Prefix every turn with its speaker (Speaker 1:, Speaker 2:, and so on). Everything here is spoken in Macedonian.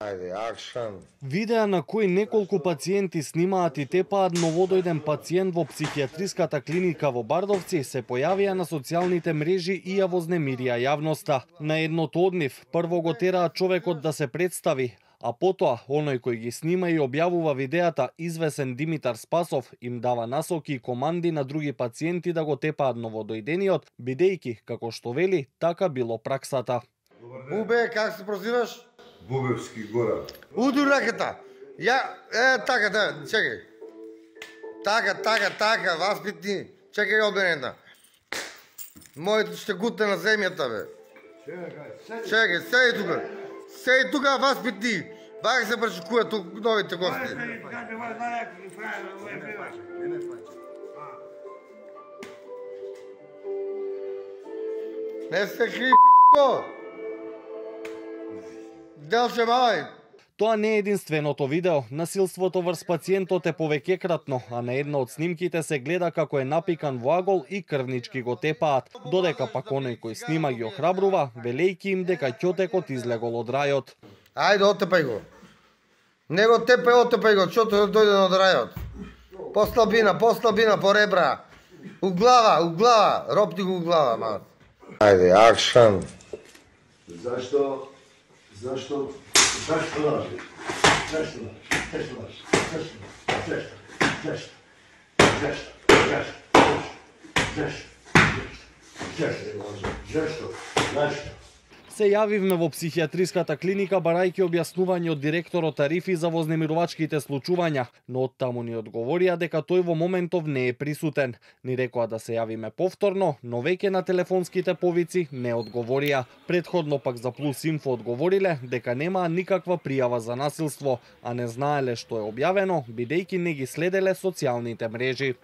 Speaker 1: Ајде, акшн.
Speaker 2: Видеа на кои неколку пациенти снимаат и тепаат новодојден пациент во психијатриската клиника во Бардовци се појавија на социјалните мрежи и ја вознемирија јавноста. На едното од нив прво го тераат човекот да се представи, а потоа оној кој ги снима и објавува видеата, извесен Димитар Спасов, им дава насоки и команди на други пациенти да го тепаат новодојдениот, бидејќи, како што вели, така било праксата.
Speaker 1: Бубе, как се прозиваш?
Speaker 3: Бубевски гора.
Speaker 1: Уду раката. Ја, така, чекај. Така, васпитни. Чекај обенета. Моето ще гутне на земјата, бе. Чекај, седи тука. Седи тука, васпитни. Бака се пречекува тук новите гости. Не се кри, пичко. Делче мај.
Speaker 2: Тоа не е единственото видео. Насилството врз пациентот е повеќекратно, а на една од снимките се гледа како е напикан во агол и крвнички го тепаат, додека пак оној кој снима ги охрабрува, велејќи им дека ќотекот излегол од рајот.
Speaker 1: Ајде, отепај го. Не го тепај, отепај го, ќотекот дојде од рајот. Послабина, по ребра. У глава, ропти го у глава, мал. Ајде, акшн.
Speaker 3: Зашто лажи? Зашто?
Speaker 2: Се јавивме во психијатриската клиника барајќи објаснување од директорот тарифи за вознемирувачките случувања, но оттаму ни одговорија дека тој во моментов не е присутен. Ни рекоа да се јавиме повторно, но веќе на телефонските повици не одговорија. Претходно пак за Плюс Инфо одговориле дека немаа никаква пријава за насилство, а не знаеле што е објавено, бидејќи не ги следеле социјалните мрежи.